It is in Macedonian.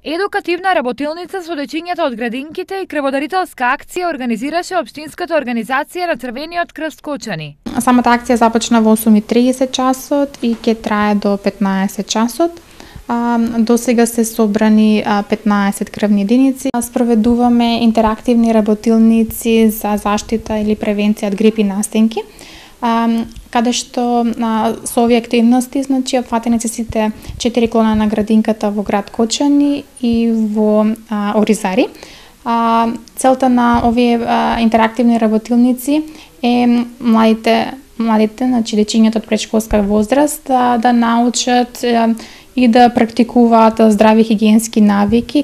Едукативна работилница со дечињата од градинките и крводарителска акција организираше Општинската организација на Црвениот крст Кочани. Самата акција започна во 8:30 часот и ќе трае до 15 часот. До сега се собрани 15 крвни единици. Спроведуваме интерактивни работилници за заштита или превенција од грип и настенки, каде што со овие активности, значи, опфатени се сите 4 клона на градинката во град Кочани и во Оризари. Целта на овие интерактивни работилници е младите, значи дечињата од претшколска возраст да научат и да практикуваат здрави хигиенски навики,